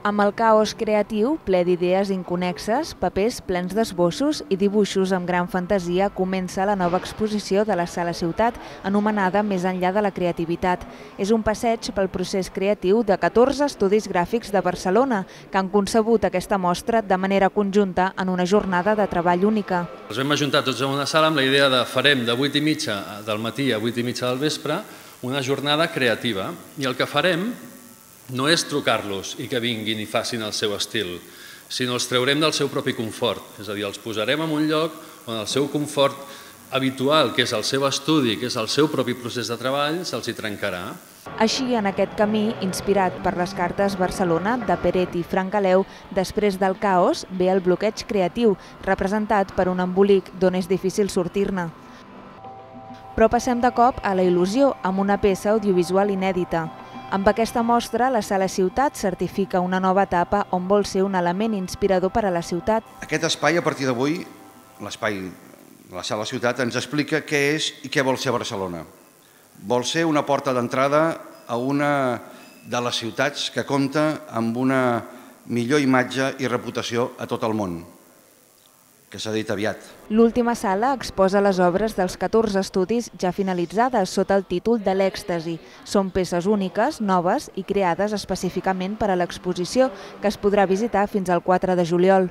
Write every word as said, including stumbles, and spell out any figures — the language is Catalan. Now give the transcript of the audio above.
Amb el caos creatiu, ple d'idees inconnexes, papers plens d'esbossos i dibuixos amb gran fantasia, comença la nova exposició de la Sala Ciutat, anomenada Més enllà de la creativitat. És un passeig pel procés creatiu de catorze estudis gràfics de Barcelona, que han concebut aquesta mostra de manera conjunta en una jornada de treball única. Els vam ajuntar tots en una sala amb la idea de farem de vuit i mitja del matí a vuit i mitja del vespre una jornada creativa, i el que farem no és trucar-los i que vinguin i facin el seu estil, sinó els traurem del seu propi confort. És a dir, els posarem en un lloc on el seu confort habitual, que és el seu estudi, que és el seu propi procés de treball, se'ls hi trencarà. Així, en aquest camí, inspirat per les cartes Barcelona de Peret i Francaleu, després del caos ve el bloqueig creatiu, representat per un embolic d'on és difícil sortir-ne. Però passem de cop a la il·lusió, amb una peça audiovisual inèdita. Amb aquesta mostra, la Sala Ciutat certifica una nova etapa on vol ser un element inspirador per a la ciutat. Aquest espai, a partir d'avui, l'espai de la Sala Ciutat, ens explica què és i què vol ser Barcelona. Vol ser una porta d'entrada a una de les ciutats que compta amb una millor imatge i reputació a tot el món, que s'ha dit aviat. L'última sala exposa les obres dels catorze estudis ja finalitzades sota el títol de l'Èxtasi. Són peces úniques, noves i creades específicament per a l'exposició, que es podrà visitar fins al quatre de juliol.